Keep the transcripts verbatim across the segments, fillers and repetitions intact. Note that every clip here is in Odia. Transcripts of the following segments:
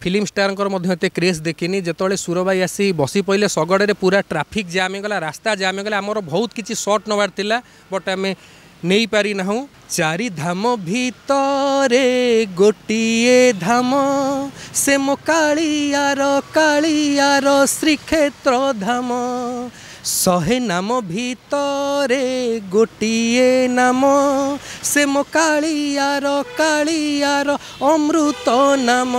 ଫିଲ୍ମ ଷ୍ଟାରଙ୍କର ମଧ୍ୟ ଏତେ କ୍ରେଜ୍ ଦେଖିନି। ଯେତେବେଳେ ସୁରଭାଇ ଆସି ବସି ପଡ଼ିଲେ ଶଗଡ଼ରେ, ପୁରା ଟ୍ରାଫିକ୍ ଜାମ୍ ହେଇଗଲା, ରାସ୍ତା ଜାମ୍ ହେଇଗଲା। ଆମର ବହୁତ କିଛି ସଟ୍ ନେବାର ଥିଲା, ବଟ୍ ଆମେ ନେଇପାରିନାହୁଁ। ଚାରି ଧାମ ଭିତରେ ଗୋଟିଏ ଧାମ, ସେ ମୋ କାଳିଆର କାଳିଆର ଶ୍ରୀକ୍ଷେତ୍ର ଧାମ। ଶହେ ନାମ ଭିତରେ ଗୋଟିଏ ନାମ, ସେ ମୋ କାଳିଆର କାଳିଆର ଅମୃତ ନାମ।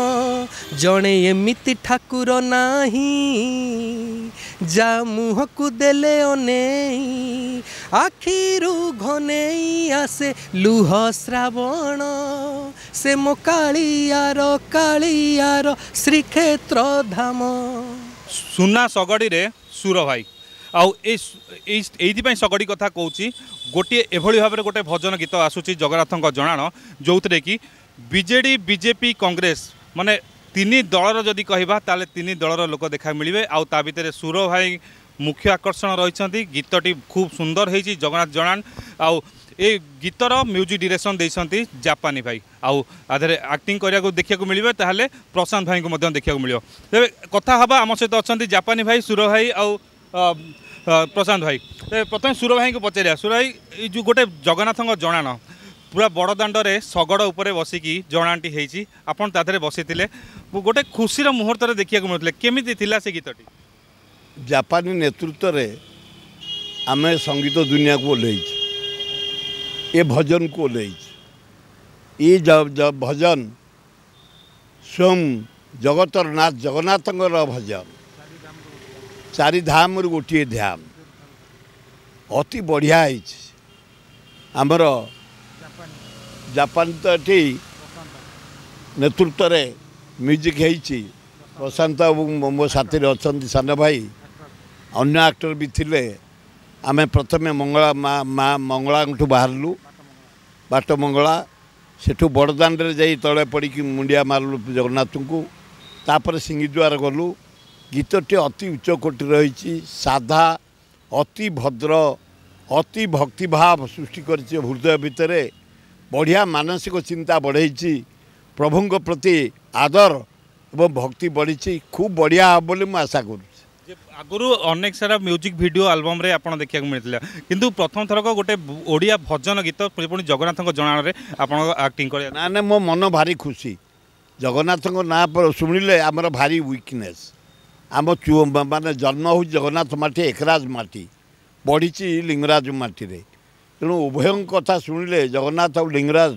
ଜଣେ ଏମିତି ଠାକୁର ନାହିଁ, ଯା ମୁହଁକୁ ଦେଲେ ଅନେଇ ଆଖିରୁ ଘନେଇ ଆସେ ଲୁହ ଶ୍ରାବଣ, ସେ ମୋ କାଳିଆର କାଳିଆର ଶ୍ରୀକ୍ଷେତ୍ର ଧାମ। ସୁନା ଶଗଡ଼ିରେ ସୁର ଭାଇ। ଆଉ ଏଇ ଏଇ ଏଇଥିପାଇଁ ଶଗଡ଼ି କଥା କହୁଛି, ଗୋଟିଏ ଏଭଳି ଭାବରେ ଗୋଟେ ଭଜନ ଗୀତ ଆସୁଛି ଜଗନ୍ନାଥଙ୍କ ଜଣାଣ, ଯେଉଁଥିରେ କି ବିଜେଡ଼ି, ବିଜେପି, କଂଗ୍ରେସ, ମାନେ ତିନି ଦଳର ଯଦି କହିବା ତାହେଲେ ତିନି ଦଳର ଲୋକ ଦେଖା ମିଳିବେ। ଆଉ ତା ଭିତରେ ସୁର ଭାଇ ମୁଖ୍ୟ ଆକର୍ଷଣ ରହିଛନ୍ତି। ଗୀତଟି ଖୁବ୍ ସୁନ୍ଦର ହେଇଛି ଜଗନ୍ନାଥ ଜଣାଣ। ଆଉ ଏ ଗୀତର ମ୍ୟୁଜିକ୍ ଡିରେକ୍ସନ୍ ଦେଇଛନ୍ତି ଜାପାନୀ ଭାଇ। ଆଉ ଆ ଦେହରେ ଆକ୍ଟିଂ କରିବାକୁ ଦେଖିବାକୁ ମିଳିବେ ତାହେଲେ ପ୍ରଶାନ୍ତ ଭାଇଙ୍କୁ ମଧ୍ୟ ଦେଖିବାକୁ ମିଳିବ। ତେବେ କଥା ହେବା, ଆମ ସହିତ ଅଛନ୍ତି ଜାପାନୀ ଭାଇ, ସୁର ଭାଇ ଆଉ ପ୍ରଶାନ୍ତ ଭାଇ। ତେବେ ପ୍ରଥମେ ସୁର ଭାଇଙ୍କୁ ପଚାରିବା। ସୁର ଭାଇ, ଏଇ ଯେଉଁ ଗୋଟେ ଜଗନ୍ନାଥଙ୍କ ଜଣାଣ ପୁରା ବଡ଼ ଦାଣ୍ଡରେ ଶଗଡ଼ ଉପରେ ବସିକି ଜଣାଣଟି ହେଇଛି, ଆପଣ ତା ଦେହରେ ବସିଥିଲେ, ଗୋଟେ ଖୁସିର ମୁହୂର୍ତ୍ତରେ ଦେଖିବାକୁ ମିଳୁଥିଲେ, କେମିତି ଥିଲା ସେ ଗୀତଟି? ଜାପାନୀ ନେତୃତ୍ୱରେ ଆମେ ସଙ୍ଗୀତ ଦୁନିଆକୁ ଓହ୍ଲେଇଛୁ, ଏ ଭଜନକୁ ଓହ୍ଲେଇଛୁ। ଏ ଭଜନ ସ୍ୱୟଂ ଜଗତର ନାଥ ଜଗନ୍ନାଥଙ୍କର ଭଜନ, ଚାରି ଧାମରୁ ଗୋଟିଏ ଧାମ। ଅତି ବଢ଼ିଆ ହେଇଛି। ଆମର ଜାପାନ ତ ଏଠି ନେତୃତ୍ୱରେ ମ୍ୟୁଜିକ୍ ହେଇଛି। ପ୍ରଶାନ୍ତ ଏବଂ ମୋ ସାଥିରେ ଅଛନ୍ତି ସାନ ଭାଇ, ଅନ୍ୟ ଆକ୍ଟର ବି ଥିଲେ। ଆମେ ପ୍ରଥମେ ମଙ୍ଗଳା ମା ମା ମଙ୍ଗଳାଙ୍କଠୁ ବାହାରିଲୁ, ବାଟ ମଙ୍ଗଳା, ସେଠୁ ବଡ଼ଦାଣ୍ଡରେ ଯାଇ ତଳେ ପଡ଼ିକି ମୁଣ୍ଡିଆ ମାରିଲୁ ଜଗନ୍ନାଥଙ୍କୁ। ତାପରେ ସିଂହଦ୍ୱାର ଗଲୁ। ଗୀତଟି ଅତି ଉଚ୍ଚ କୋଟିର ରହିଛି, ସାଧା, ଅତି ଭଦ୍ର, ଅତି ଭକ୍ତିଭାବ ସୃଷ୍ଟି କରିଛି ହୃଦୟ ଭିତରେ, ବଢ଼ିଆ ମାନସିକ ଚିନ୍ତା ବଢ଼େଇଛି, ପ୍ରଭୁଙ୍କ ପ୍ରତି ଆଦର ଏବଂ ଭକ୍ତି ବଢ଼ିଛି। ଖୁବ୍ ବଢ଼ିଆ ହେବ ବୋଲି ମୁଁ ଆଶା କରୁଛି। ଆଗରୁ ଅନେକ ସାରା ମ୍ୟୁଜିକ୍ ଭିଡ଼ିଓ ଆଲବମ୍ରେ ଆପଣ ଦେଖିବାକୁ ମିଳିଥିଲା, କିନ୍ତୁ ପ୍ରଥମ ଥରକ ଗୋଟେ ଓଡ଼ିଆ ଭଜନ ଗୀତ ପୁଣି ଜଗନ୍ନାଥଙ୍କ ଜଣାଣରେ ଆପଣ ଆକ୍ଟିଂ କରିବା? ନା ନା, ମୋ ମନ ଭାରି ଖୁସି। ଜଗନ୍ନାଥଙ୍କ ନାଁ ଶୁଣିଲେ ଆମର ଭାରି ୱିକନେସ୍। ଆମ ମାନେ ଜନ୍ମ ହେଉଛି ଜଗନ୍ନାଥ ମାଟି, ଏକରାଜ ମାଟି, ବଢ଼ିଛି ଲିଙ୍ଗରାଜ ମାଟିରେ। ତେଣୁ ଉଭୟଙ୍କ କଥା ଶୁଣିଲେ ଜଗନ୍ନାଥ ଆଉ ଲିଙ୍ଗରାଜ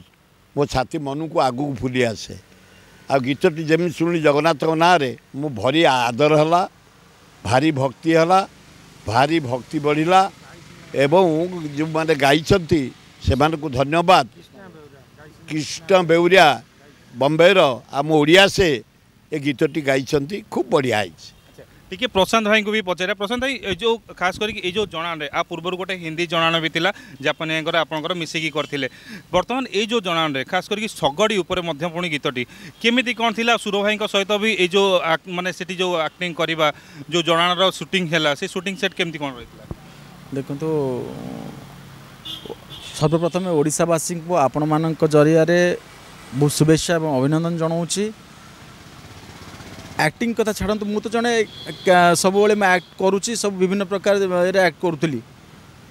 ମୋ ଛାତି ମନକୁ ଆଗକୁ ଫୁଲି ଆସେ। ଆଉ ଗୀତଟି ଯେମିତି ଶୁଣିଲି ଜଗନ୍ନାଥଙ୍କ ନାଁରେ, ମୁଁ ଭରି ଆଦର ହେଲା, ଭାରି ଭକ୍ତି ହେଲା, ଭାରି ଭକ୍ତି ବଢ଼ିଲା। ଏବଂ ଯେଉଁମାନେ ଗାଇଛନ୍ତି ସେମାନଙ୍କୁ ଧନ୍ୟବାଦ। କୃଷ୍ଣ ବେଉରିଆ ବମ୍ବେର, ଆମ ଓଡ଼ିଆ, ସେ ଏ ଗୀତଟି ଗାଇଛନ୍ତି, ଖୁବ୍ ବଢ଼ିଆ ହେଇଛି। ଟିକେ ପ୍ରଶାନ୍ତ ଭାଇଙ୍କୁ ବି ପଚାରିବା। ପ୍ରଶାନ୍ତ ଭାଇ, ଏ ଯେଉଁ ଖାସ କରିକି ଏଇ ଯେଉଁ ଜଣାଣରେ, ଆ ପୂର୍ବରୁ ଗୋଟେ ହିନ୍ଦୀ ଜଣାଣ ବି ଥିଲା ଜାପାନୀଙ୍କର, ଆପଣଙ୍କର ମିଶିକି କରିଥିଲେ। ବର୍ତ୍ତମାନ ଏଇ ଯେଉଁ ଜଣାଣରେ ଖାସ କରିକି ଶଗଡ଼ି ଉପରେ ମଧ୍ୟ ପୁଣି ଗୀତଟି କେମିତି କ'ଣ ଥିଲା? ସୁର ଭାଇଙ୍କ ସହିତ ବି ଏଇ ଯେଉଁ ମାନେ ସେଠି ଯେଉଁ ଆକ୍ଟିଂ କରିବା, ଯେଉଁ ଜଣାଣର ସୁଟିଂ ହେଲା, ସେ ସୁଟିଂ ସେଟ୍ କେମିତି କ'ଣ ରହିଥିଲା? ଦେଖନ୍ତୁ, ସର୍ବପ୍ରଥମେ ଓଡ଼ିଶାବାସୀଙ୍କୁ ଆପଣମାନଙ୍କ ଜରିଆରେ ବହୁତ ଶୁଭେଚ୍ଛା ଏବଂ ଅଭିନନ୍ଦନ ଜଣାଉଛି। ଆକ୍ଟିଂ କଥା ଛାଡ଼ନ୍ତୁ, ମୁଁ ତ ଜଣେ ସବୁବେଳେ ମୁଁ ଆକ୍ଟ କରୁଛି, ସବୁ ବିଭିନ୍ନ ପ୍ରକାର ଆକ୍ଟ କରୁଥିଲି,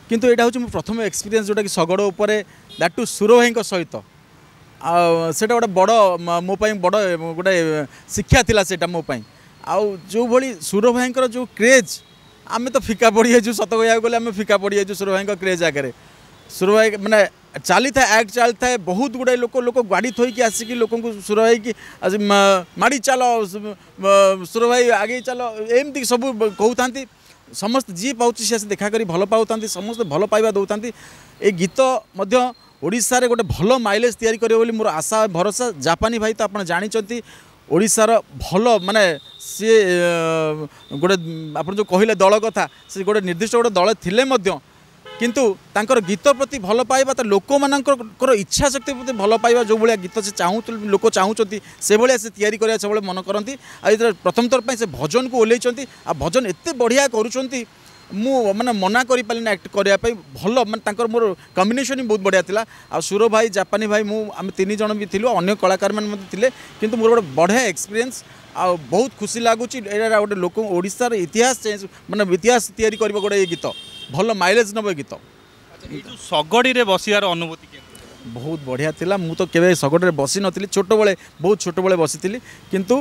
କିନ୍ତୁ ଏଇଟା ହେଉଛି ମୋ ପ୍ରଥମ ଏକ୍ସପିରିଏନ୍ସ ଯେଉଁଟାକି ଶଗଡ଼ ଉପରେ, that two ସୁର ଭାଇଙ୍କ ସହିତ। ଆଉ ସେଇଟା ଗୋଟେ ବଡ଼ ମୋ ପାଇଁ ବଡ଼ ଗୋଟେ ଶିକ୍ଷା ଥିଲା ସେଇଟା ମୋ ପାଇଁ। ଆଉ ଯେଉଁଭଳି ସୁର ଭାଇଙ୍କର ଯେଉଁ କ୍ରେଜ୍, ଆମେ ତ ଫିକା ପଡ଼ିଯାଇଛୁ। ସତ କହିବାକୁ ଗଲେ ଆମେ ଫିକା ପଡ଼ିଯାଇଛୁ ସୁର ଭାଇଙ୍କ କ୍ରେଜ୍ ଆଗରେ। ସୁର ଭାଇ ମାନେ ଚାଲିଥାଏ, ଆକ୍ଟ ଚାଲିଥାଏ, ବହୁତ ଗୁଡ଼ାଏ ଲୋକ ଲୋକ ଗାଡ଼ି ଥୋଇକି ଆସିକି ଲୋକଙ୍କୁ ସୁର ହେଇକି ଆସି ମାଡ଼ି ଚାଲ, ସୁର ଭାଇ ଆଗେଇ ଚାଲ, ଏମିତି ସବୁ କହୁଥାନ୍ତି। ସମସ୍ତେ ଯିଏ ପାଉଛି ସେ ଆସି ଦେଖା କରି ଭଲ ପାଉଥାନ୍ତି, ସମସ୍ତେ ଭଲ ପାଇବା ଦେଉଥାନ୍ତି। ଏ ଗୀତ ମଧ୍ୟ ଓଡ଼ିଶାରେ ଗୋଟେ ଭଲ ମାଇଲେଜ୍ ତିଆରି କରିବ ବୋଲି ମୋର ଆଶା ଭରସା। ଜାପାନୀ ଭାଇ ତ ଆପଣ ଜାଣିଛନ୍ତି ଓଡ଼ିଶାର ଭଲ, ମାନେ ସିଏ ଗୋଟେ ଆପଣ ଯେଉଁ କହିଲେ ଦଳ କଥା, ସେ ଗୋଟେ ନିର୍ଦ୍ଦିଷ୍ଟ ଗୋଟେ ଦଳ ଥିଲେ ମଧ୍ୟ କିନ୍ତୁ ତାଙ୍କର ଗୀତ ପ୍ରତି ଭଲ ପାଇବା, ତା ଲୋକମାନଙ୍କର ଇଚ୍ଛା ଶକ୍ତି ପ୍ରତି ଭଲ ପାଇବା, ଯେଉଁଭଳିଆ ଗୀତ ସେ ଚାହୁଁ ଲୋକ ଚାହୁଁଛନ୍ତି ସେଭଳିଆ ସେ ତିଆରି କରିବା ସବୁବେଳେ ମନ କରନ୍ତି। ଆଉ ଏଥିରେ ପ୍ରଥମ ଥର ପାଇଁ ସେ ଭଜନକୁ ଓହ୍ଲେଇଛନ୍ତି, ଆଉ ଭଜନ ଏତେ ବଢ଼ିଆ କରୁଛନ୍ତି। ମୁଁ ମାନେ ମନା କରିପାରିଲିନି ଆକ୍ଟ କରିବା ପାଇଁ ଭଲ ମାନେ ତାଙ୍କର ମୋର କମ୍ବିନେସନ୍ ବି ବହୁତ ବଢ଼ିଆ ଥିଲା ଆଉ ସୁର ଭାଇ ଜାପାନୀ ଭାଇ ମୁଁ ଆମେ ତିନି ଜଣ ବି ଥିଲୁ ଅନ୍ୟ କଳାକାରମାନେ ମଧ୍ୟ ଥିଲେ କିନ୍ତୁ ମୋର ଗୋଟେ ବଢ଼ିଆ ଏକ୍ସପିରିଏନ୍ସ ଆଉ ବହୁତ ଖୁସି ଲାଗୁଛି ଏଇଟା ଗୋଟେ ଲୋକ ଓଡ଼ିଶାର ଇତିହାସ ଚେଞ୍ଜ ମାନେ ଇତିହାସ ତିଆରି କରିବ ଗୋଟେ ଏ ଗୀତ ଭଲ ମାଇଲେଜ୍ ନେବ ଏ ଗୀତ ଏଇ ଯେଉଁ ଶଗଡ଼ିରେ ବସିବାର ଅନୁଭୂତି କେମିତି ବହୁତ ବଢ଼ିଆ ଥିଲା ମୁଁ ତ କେବେ ଶଗଡ଼ରେ ବସି ନଥିଲି ଛୋଟବେଳେ ବହୁତ ଛୋଟବେଳେ ବସିଥିଲି କିନ୍ତୁ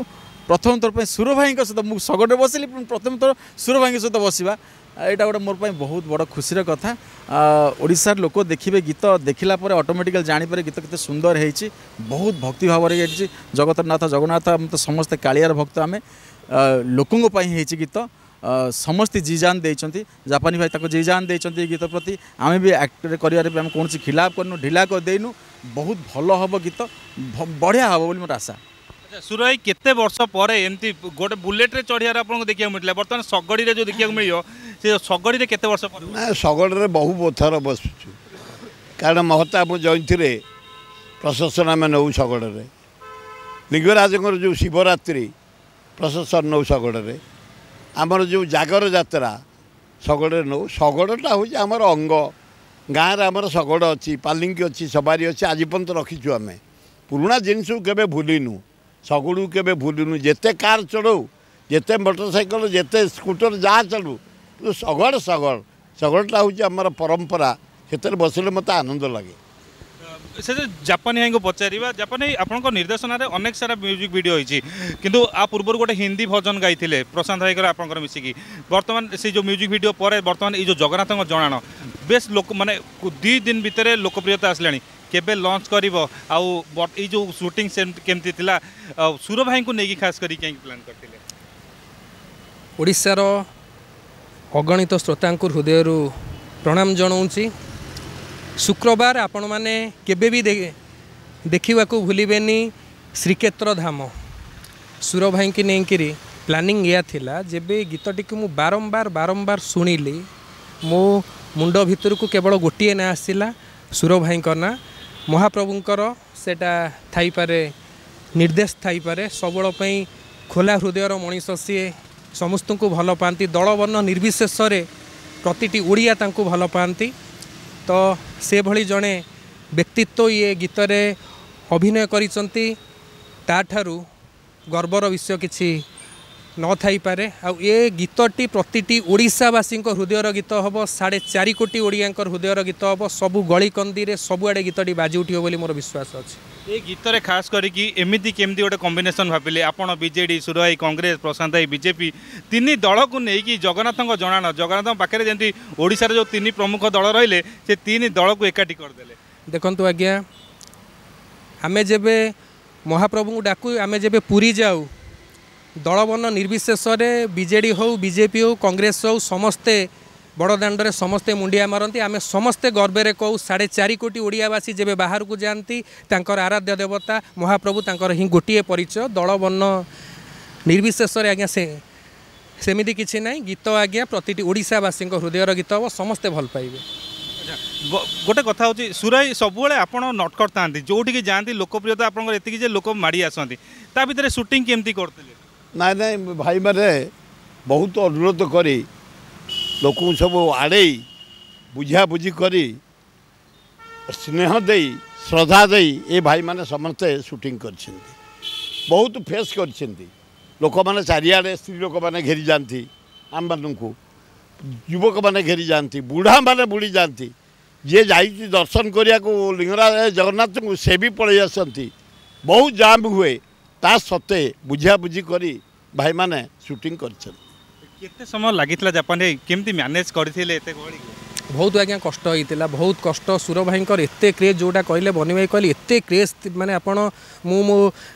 ପ୍ରଥମ ଥର ପାଇଁ ସୁର ଭାଇଙ୍କ ସହିତ ମୁଁ ଶଗଡ଼ରେ ବସିଲି ପୁଣି ପ୍ରଥମ ଥର ସୁର ଭାଇଙ୍କ ସହିତ ବସିବା ଏଇଟା ଗୋଟେ ମୋର ପାଇଁ ବହୁତ ବଡ଼ ଖୁସିର କଥା ଆ, ଓଡ଼ିଶାର ଲୋକ ଦେଖିବେ ଗୀତ ଦେଖିଲା ପରେ ଅଟୋମେଟିକାଲି ଜାଣିପାରିବେ ଗୀତ କେତେ ସୁନ୍ଦର ହେଇଛି ବହୁତ ଭକ୍ତି ଭାବରେ ହେଇଛି ଜଗତର ନାଥ ଜଗନ୍ନାଥ ଆମେ ତ ସମସ୍ତେ କାଳିଆର ଭକ୍ତ ଆମେ ଆ, ଲୋକଙ୍କ ପାଇଁ ହେଇଛି ଗୀତ ଆ, ସମସ୍ତେ ଜି ଜାନ୍ ଦେଇଛନ୍ତି ଜାପାନୀ ଭାଇ ତାକୁ ଜି ଜାନ୍ ଦେଇଛନ୍ତି ଏ ଗୀତ ପ୍ରତି ଆମେ ବି ଆକ୍ଟ କରିବାରେ ବି ଆମେ କୌଣସି ଖିଲାପ କରିନୁ ଢିଲା କରିଦେଇନୁ ବହୁତ ଭଲ ହେବ ଗୀତ ଭ- ବଢ଼ିଆ ହେବ ବୋଲି ମୋର ଆଶା ଆଚ୍ଛା ସୁର ଭାଇ କେତେ ବର୍ଷ ପରେ ଏମିତି ଗୋଟେ ବୁଲେଟରେ ଚଢ଼ିବାର ଆପଣଙ୍କୁ ଦେଖିବାକୁ ମିଳିଥିଲା ବର୍ତ୍ତମାନ ଶଗଡ଼ିରେ ଯେଉଁ ଦେଖିବାକୁ ମିଳିବ ସେ ଶଗଡ଼ିରେ କେତେ ବର୍ଷ ପରେ ନା ଶଗଡ଼ରେ ବହୁ ଥର ବସୁଛୁ କାରଣ ମହତାବ ଜୟନ୍ତୀରେ ପ୍ରସେସନ୍ ଆମେ ନେଉ ଶଗଡ଼ରେ ଲିଙ୍ଗରାଜଙ୍କର ଯେଉଁ ଶିବରାତ୍ରି ପ୍ରସେସନ୍ ନେଉ ଶଗଡ଼ରେ ଆମର ଯେଉଁ ଜାଗର ଯାତ୍ରା ଶଗଡ଼ରେ ନେଉ ଶଗଡ଼ଟା ହେଉଛି ଆମର ଅଙ୍ଗ ଗାଁରେ ଆମର ଶଗଡ଼ ଅଛି ପାଲିଙ୍କି ଅଛି ସବାରି ଅଛି ଆଜି ପର୍ଯ୍ୟନ୍ତ ରଖିଛୁ ଆମେ ପୁରୁଣା ଜିନିଷକୁ କେବେ ଭୁଲିନୁ ଶଗଡ଼କୁ କେବେ ଭୁଲିନୁ ଯେତେ କାର୍ ଚଢ଼ଉ ଯେତେ ମୋଟରସାଇକେଲ ଯେତେ ସ୍କୁଟର ଯାହା ଚଢ଼ୁ କିନ୍ତୁ ଶଗଡ଼ ଶଗଡ଼ ଶଗଡ଼ଟା ହେଉଛି ଆମର ପରମ୍ପରା ସେଥିରେ ବସିଲେ ମୋତେ ଆନନ୍ଦ ଲାଗେ ସେ ଯେ ଜାପାନୀ ଭାଇଙ୍କୁ ପଚାରିବା ଜାପାନୀ ଭାଇ ଆପଣଙ୍କ ନିର୍ଦ୍ଦେଶନାରେ ଅନେକ ସାରା ମ୍ୟୁଜିକ୍ ଭିଡ଼ିଓ ହେଇଛି କିନ୍ତୁ ଆ ପୂର୍ବରୁ ଗୋଟେ ହିନ୍ଦୀ ଭଜନ ଗାଇଥିଲେ ପ୍ରଶାନ୍ତ ଭାଇଙ୍କର ଆପଣଙ୍କର ମିଶିକି ବର୍ତ୍ତମାନ ସେଇ ଯେଉଁ ମ୍ୟୁଜିକ୍ ଭିଡ଼ିଓ ପରେ ବର୍ତ୍ତମାନ ଏଇ ଯେଉଁ ଜଗନ୍ନାଥଙ୍କ ଜଣାଣ ବେଶ ଲୋକ ମାନେ ଦୁଇ ଦିନ ଭିତରେ ଲୋକପ୍ରିୟତା ଆସିଲାଣି କେବେ ଲଞ୍ଚ କରିବ ଆଉ ବ- ଏଇ ଯେଉଁ ସୁଟିଂ ସେମିତି କେମିତି ଥିଲା ଆଉ ସୁର ଭାଇଙ୍କୁ ନେଇକି ଖାସ କରି କାହିଁକି ପ୍ଲାନ୍ କରିଥିଲେ ଓଡ଼ିଶାର ଅଗଣିତ ଶ୍ରୋତାଙ୍କୁ ହୃଦୟରୁ ପ୍ରଣାମ ଜଣାଉଛି ଶୁକ୍ରବାର ଆପଣମାନେ କେବେ ବି ଦେ- ଦେଖିବାକୁ ଭୁଲିବେନି ଶ୍ରୀକ୍ଷେତ୍ର ଧାମ ସୁର ଭାଇଙ୍କି ନେଇକିରି ପ୍ଲାନିଂ ଏଇଆ ଥିଲା ଯେବେ ଏ ଗୀତଟିକୁ ମୁଁ ବାରମ୍ବାର ବାରମ୍ବାର ଶୁଣିଲି ମୋ ମୁଣ୍ଡ ଭିତରକୁ କେବଳ ଗୋଟିଏ ନାଁ ଆସିଲା ସୁର ଭାଇଙ୍କ ନାଁ ମହାପ୍ରଭୁଙ୍କର ସେଇଟା ଥାଇପାରେ ନିର୍ଦ୍ଦେଶ ଥାଇପାରେ ସବୁବେଳ ପାଇଁ ଖୋଲା ହୃଦୟର ମଣିଷ ସିଏ ସମସ୍ତଙ୍କୁ ଭଲ ପାଆନ୍ତି ଦଳ ବର୍ଣ୍ଣ ନିର୍ବିଶେଷରେ ପ୍ରତିଟି ଓଡ଼ିଆ ତାଙ୍କୁ ଭଲ ପାଆନ୍ତି ତ ସେଭଳି ଜଣେ ବ୍ୟକ୍ତିତ୍ୱ ଇଏ ଗୀତରେ ଅଭିନୟ କରିଛନ୍ତି ତାଠାରୁ ଗର୍ବର ବିଷୟ କିଛି ନଥାଇପାରେ ଆଉ ଏ ଗୀତଟି ପ୍ରତିଟି ଓଡ଼ିଶାବାସୀଙ୍କ ହୃଦୟର ଗୀତ ହେବ ସାଢ଼େ ଚାରି କୋଟି ଓଡ଼ିଆଙ୍କର ହୃଦୟର ଗୀତ ହେବ ସବୁ ଗଳିକନ୍ଦିରେ ସବୁଆଡ଼େ ଗୀତଟି ବାଜି ଉଠିବ ବୋଲି ମୋର ବିଶ୍ୱାସ ଅଛି ଏ ଗୀତରେ ଖାସ କରିକି ଏମିତି କେମିତି ଗୋଟେ କମ୍ବିନେସନ୍ ଭାବିଲେ ଆପଣ ବିଜେଡି ସୁର ଭାଇ କଂଗ୍ରେସ ପ୍ରଶାନ୍ତ ଭାଇ ବିଜେପି ତିନି ଦଳକୁ ନେଇକି ଜଗନ୍ନାଥଙ୍କ ଜଣାଣ ଜଗନ୍ନାଥଙ୍କ ପାଖରେ ଯେମିତି ଓଡ଼ିଶାର ଯେଉଁ ତିନି ପ୍ରମୁଖ ଦଳ ରହିଲେ ସେ ତିନି ଦଳକୁ ଏକାଠି କରିଦେଲେ ଦେଖନ୍ତୁ ଆଜ୍ଞା ଆମେ ଯେବେ ମହାପ୍ରଭୁଙ୍କୁ ଡାକୁ ଆମେ ଯେବେ ପୁରୀ ଯାଉ ଦଳବର୍ଣ୍ଣ ନିର୍ବିଶେଷରେ ବିଜେଡ଼ି ହେଉ ବିଜେପି ହେଉ କଂଗ୍ରେସ ହେଉ ସମସ୍ତେ ବଡ଼ ଦାଣ୍ଡରେ ସମସ୍ତେ ମୁଣ୍ଡିଆ ମାରନ୍ତି ଆମେ ସମସ୍ତେ ଗର୍ବରେ କହୁ ସାଢ଼େ ଚାରି କୋଟି ଓଡ଼ିଆବାସୀ ଯେବେ ବାହାରକୁ ଯାଆନ୍ତି ତାଙ୍କର ଆରାଧ୍ୟ ଦେବତା ମହାପ୍ରଭୁ ତାଙ୍କର ହିଁ ଗୋଟିଏ ପରିଚୟ ଦଳ ବର୍ଣ୍ଣ ନିର୍ବିଶେଷରେ ଆଜ୍ଞା ସେ ସେମିତି କିଛି ନାହିଁ ଗୀତ ଆଜ୍ଞା ପ୍ରତିଟି ଓଡ଼ିଶାବାସୀଙ୍କ ହୃଦୟର ଗୀତ ହେବ ସମସ୍ତେ ଭଲ ପାଇବେ ବ- ଗୋଟେ କଥା ହେଉଛି ସୁରାଇ ସବୁବେଳେ ଆପଣ ନଟଖଟ ଥାନ୍ତି ଯେଉଁଠିକି ଯାଆନ୍ତି ଲୋକପ୍ରିୟତା ଆପଣଙ୍କର ଏତିକି ଯେ ଲୋକ ମାଡ଼ି ଆସନ୍ତି ତା ଭିତରେ ସୁଟିଂ କେମିତି କରୁଥିଲେ ନାଇଁ ନାଇଁ ଭାଇମାନେ ବହୁତ ଅନୁରୋଧ କରି ଲୋକଙ୍କୁ ସବୁ ଆଡ଼େଇ ବୁଝାବୁଝି କରି ସ୍ନେହ ଦେଇ ଶ୍ରଦ୍ଧା ଦେଇ ଏ ଭାଇମାନେ ସମସ୍ତେ ସୁଟିଂ କରିଛନ୍ତି ବହୁତ ଫେସ୍ କରିଛନ୍ତି ଲୋକମାନେ ଚାରିଆଡ଼େ ସ୍ତ୍ରୀ ଲୋକମାନେ ଘେରିଯାଆନ୍ତି ଆମମାନଙ୍କୁ ଯୁବକମାନେ ଘେରିଯାଆନ୍ତି ବୁଢ଼ାମାନେ ବୁଡ଼ି ଯାଆନ୍ତି ଯିଏ ଯାଇଛି ଦର୍ଶନ କରିବାକୁ ଲିଙ୍ଗରାଜ ଜଗନ୍ନାଥଙ୍କୁ ସେ ବି ପଳେଇ ଆସନ୍ତି ବହୁତ ଜାମ୍ ହୁଏ ତା ସତ୍ତ୍ୱେ ବୁଝାବୁଝି କରି ଭାଇମାନେ ସୁଟିଂ କରିଛନ୍ତି କେତେ ସମୟ ଲାଗିଥିଲା ଜାପାନରେ କେମିତି ମ୍ୟାନେଜ୍ କରିଥିଲେ ଏତେ ଗହଳିକୁ ବହୁତ ଆଜ୍ଞା କଷ୍ଟ ହେଇଥିଲା ବହୁତ କଷ୍ଟ ସୁର ଭାଇଙ୍କର ଏତେ କ୍ରେଜ୍ ଯେଉଁଟା କହିଲେ ବନି ଭାଇ କହିଲେ ଏତେ କ୍ରେଜ୍ ମାନେ ଆପଣ ମୁଁ ମୋ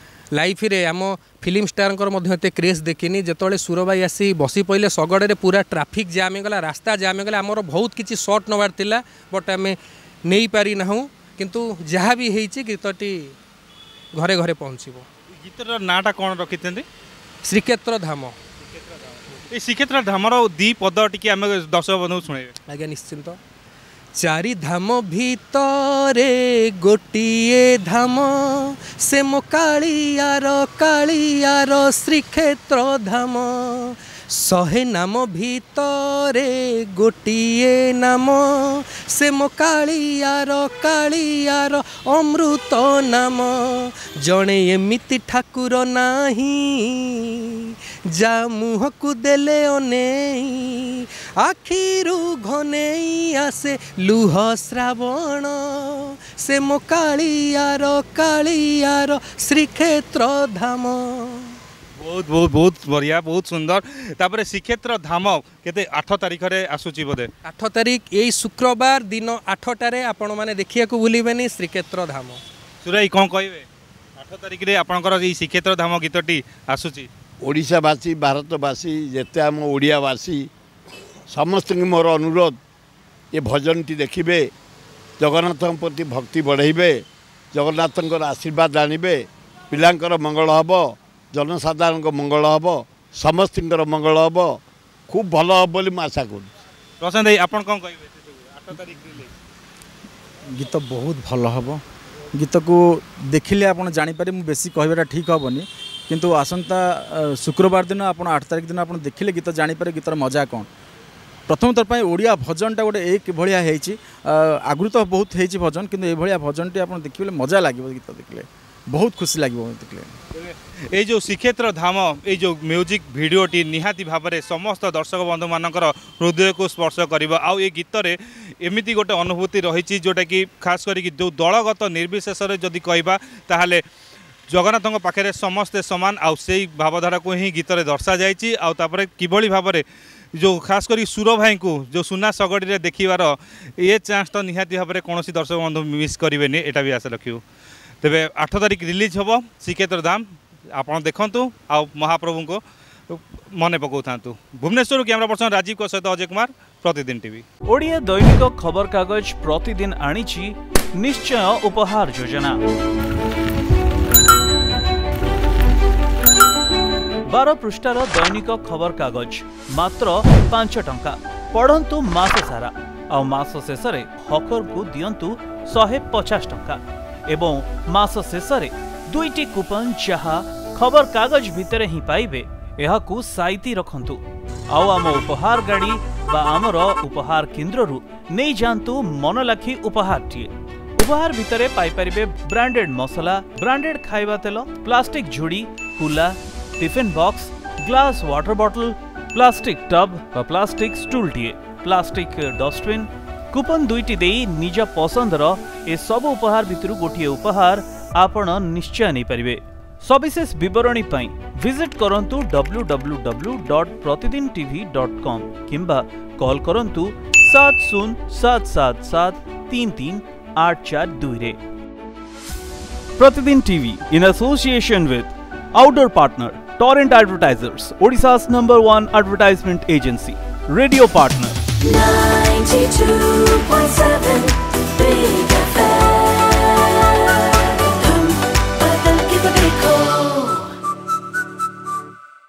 ଲାଇଫରେ ଆମ ଫିଲ୍ମ ଷ୍ଟାରଙ୍କର ମଧ୍ୟ ଏତେ କ୍ରେଜ୍ ଦେଖିନି ଯେତେବେଳେ ସୁର ଭାଇ ଆସି ବସି ପଡ଼ିଲେ ଶଗଡ଼ରେ ପୁରା ଟ୍ରାଫିକ୍ ଜାମ୍ ହେଇଗଲା ରାସ୍ତା ଜାମ୍ ହେଇଗଲା ଆମର ବହୁତ କିଛି ସଟ୍ ନେବାର ଥିଲା ବଟ୍ ଆମେ ନେଇପାରିନାହୁଁ କିନ୍ତୁ ଯାହା ବି ହେଇଛି ଗୀତଟି ଘରେ ଘରେ ପହଞ୍ଚିବ ଗୀତର ନାଁଟା କ'ଣ ରଖିଛନ୍ତି ଶ୍ରୀକ୍ଷେତ୍ର ଧାମ ଏଇ ଶ୍ରୀକ୍ଷେତ୍ର ଧାମର ଦି ପଦ ଟିକେ ଆମେ ଦର୍ଶକ ବନ୍ଧୁଙ୍କୁ ଶୁଣେଇବେ ଆଜ୍ଞା ନିଶ୍ଚିନ୍ତ ଚାରି ଧାମ ଭିତରେ ଗୋଟିଏ ଧାମ ସେ ମୋ କାଳିଆର କାଳିଆର ଶ୍ରୀକ୍ଷେତ୍ର ଧାମ ଶହେ ନାମ ଭିତରେ ଗୋଟିଏ ନାମ ସେ ମୋ କାଳିଆର କାଳିଆର ଅମୃତ ନାମ ଜଣେ ଏମିତି ଠାକୁର ନାହିଁ ଯା ମୁହଁକୁ ଦେଲେ ଅନେଇ ଆଖିରୁ ଘନେଇ ଆସେ ଲୁହ ଶ୍ରାବଣ ସେ ମୋ କାଳିଆର କାଳିଆର ଶ୍ରୀକ୍ଷେତ୍ର ଧାମ ବହୁତ ବହୁତ ବହୁତ ବଢ଼ିଆ ବହୁତ ସୁନ୍ଦର ତାପରେ ଶ୍ରୀକ୍ଷେତ୍ର ଧାମ କେତେ ଆଠ ତାରିଖରେ ଆସୁଛି ବୋଧେ ଆଠ ତାରିଖ ଏଇ ଶୁକ୍ରବାର ଦିନ ଆଠଟାରେ ଆପଣମାନେ ଦେଖିବାକୁ ଭୁଲିବେନି ଶ୍ରୀକ୍ଷେତ୍ର ଧାମ ସୁରାଇ କ'ଣ କହିବେ ଆଠ ତାରିଖରେ ଆପଣଙ୍କର ଏଇ ଶ୍ରୀକ୍ଷେତ୍ର ଧାମ ଗୀତଟି ଆସୁଛି ଓଡ଼ିଶାବାସୀ ଭାରତବାସୀ ଯେତେ ଆମ ଓଡ଼ିଆବାସୀ ସମସ୍ତଙ୍କୁ ମୋର ଅନୁରୋଧ ଏ ଭଜନଟି ଦେଖିବେ ଜଗନ୍ନାଥଙ୍କ ପ୍ରତି ଭକ୍ତି ବଢ଼େଇବେ ଜଗନ୍ନାଥଙ୍କର ଆଶୀର୍ବାଦ ଆଣିବେ ପିଲାଙ୍କର ମଙ୍ଗଳ ହେବ ଜନସାଧାରଣଙ୍କ ମଙ୍ଗଳ ହେବ ସମସ୍ତଙ୍କର ମଙ୍ଗଳ ହେବ ଖୁବ୍ ଭଲ ହେବ ବୋଲି ମୁଁ ଆଶା କରୁଛି ପ୍ରଶାନ୍ତ ଭାଇ ଆପଣ କ'ଣ କହିବେ ସେସବୁ ଆଠ ତାରିଖ ରିଲିଜ୍ ଗୀତ ବହୁତ ଭଲ ହେବ ଗୀତକୁ ଦେଖିଲେ ଆପଣ ଜାଣିପାରିବେ ମୁଁ ବେଶୀ କହିବାଟା ଠିକ୍ ହେବନି କିନ୍ତୁ ଆସନ୍ତା ଅ, ଶୁକ୍ରବାର ଦିନ ଆପଣ ଆଠ ତାରିଖ ଦିନ ଆପଣ ଦେଖିଲେ ଗୀତ ଜାଣିପାରିବେ ଗୀତର ମଜା କ'ଣ ପ୍ରଥମ ଥର ପାଇଁ ଓଡ଼ିଆ ଭଜନଟା ଗୋଟେ ଏକ ଭଳିଆ ହେଇଛି ଅ, ଆଗରୁ ତ ବହୁତ ହେଇଛି ଭଜନ କିନ୍ତୁ ଏଇଭଳିଆ ଭଜନଟି ଆପଣ ଦେଖିଲେ ମଜା ଲାଗିବ ଗୀତ ଦେଖିଲେ ବହୁତ ଖୁସି ଲାଗିବ ଦେଖିଲେ ଏଇ ଯେଉଁ ଶ୍ରୀକ୍ଷେତ୍ର ଧାମ ଏଇ ଯେଉଁ ମ୍ୟୁଜିକ୍ ଭିଡ଼ିଓଟି ନିହାତି ଭାବରେ ସମସ୍ତ ଦର୍ଶକ ବନ୍ଧୁମାନଙ୍କର ହୃଦୟକୁ ସ୍ପର୍ଶ କରିବ ଆଉ ଏ ଗୀତରେ ଏମିତି ଗୋଟେ ଅନୁଭୂତି ରହିଛି ଯେଉଁଟାକି ଖାସ୍ କରିକି ଯେଉଁ ଦଳଗତ ନିର୍ବିଶେଷରେ ଯଦି କହିବା ତାହେଲେ ଜଗନ୍ନାଥଙ୍କ ପାଖରେ ସମସ୍ତେ ସମାନ ଆଉ ସେଇ ଭାବଧାରାକୁ ହିଁ ଗୀତରେ ଦର୍ଶାଯାଇଛି ଆଉ ତାପରେ କିଭଳି ଭାବରେ ଯେଉଁ ଖାସ୍ କରି ସୁର ଭାଇଙ୍କୁ ଯେଉଁ ସୁନା ଶଗଡ଼ିରେ ଦେଖିବାର ଏ ଚାନ୍ସ ତ ନିହାତି ଭାବରେ କୌଣସି ଦର୍ଶକ ବନ୍ଧୁ ମିସ୍ କରିବେନି ଏଇଟା ବି ଆଶା ରଖିବୁ ତେବେ ଆଠ ତାରିଖ ରିଲିଜ୍ ହେବ ଶ୍ରୀକ୍ଷେତ୍ର ଧାମ ଆପଣ ଦେଖନ୍ତୁ ଆଉ ମହାପ୍ରଭୁଙ୍କୁ ମନେ ପକାଉଥାନ୍ତୁ ଭୁବନେଶ୍ୱରରୁ କ୍ୟାମେରା ପର୍ସନ ରାଜୀବଙ୍କ ସହିତ ଅଜୟ କୁମାର ପ୍ରତିଦିନ ଟିଭି ଓଡ଼ିଆ ଦୈନିକ ଖବରକାଗଜ ପ୍ରତିଦିନ ଆଣିଛି ନିଶ୍ଚୟ ଉପହାର ଯୋଜନା ବାର ପୃଷ୍ଠାର ଦୈନିକ ଖବରକାଗଜ ମାତ୍ର ପାଞ୍ଚ ଟଙ୍କା ପଢ଼ନ୍ତୁ ମାସ ସାରା ଆଉ ମାସ ଶେଷରେ ହକରଙ୍କୁ ଦିଅନ୍ତୁ ଶହେ ପଚାଶ ଟଙ୍କା ଏବଂ ମାସ ଶେଷରେ ଦୁଇଟି କୁପନ ଯାହା ଖବରକାଗଜ ଭିତରେ ହିଁ ପାଇବେ ଏହାକୁ ସାଇତି ରଖନ୍ତୁ ଆଉ ଆମ ଉପହାର ଗାଡ଼ି ବା ଆମର ଉପହାର କେନ୍ଦ୍ରରୁ ନେଇଯାଆନ୍ତୁ ମନଲାଖି ଉପହାରଟିଏ ଉପହାର ଭିତରେ ପାଇପାରିବେ ବ୍ରାଣ୍ଡେଡ୍ ମସଲା ବ୍ରାଣ୍ଡେଡ୍ ଖାଇବା ତେଲ ପ୍ଲାଷ୍ଟିକ୍ ଝୁଡ଼ି କୁଲା tiffin box glass water bottle plastic tub ବା ପ୍ଲାଷ୍ଟିକ୍ ଷ୍ଟୁଲଟିଏ ପ୍ଲାଷ୍ଟିକ୍ ଡଷ୍ଟବିନ୍ କୁପନ ଦୁଇଟି ଦେଇ ନିଜ ପସନ୍ଦର ଏସବୁ ଉପହାର ଭିତରୁ ଗୋଟିଏ ଉପହାର ଆପଣ ନିଶ୍ଚୟ ନେଇପାରିବେ ସବିଶେଷ ବିବରଣୀ ପାଇଁ ଭିଜିଟ୍ କରନ୍ତୁ W W W dot Pratidin TV dot com କିମ୍ବା କଲ୍ କରନ୍ତୁ ସାତ ଶୂନ ସାତ ସାତ ସାତ ତିନି ତିନି ଆଠ ଚାରି ଦୁଇରେ Pratidin TV in association with Outdoor Partner, Torrent Advertisers, Odisha's number one advertisement agency, Radio Partner. ninety-two point seven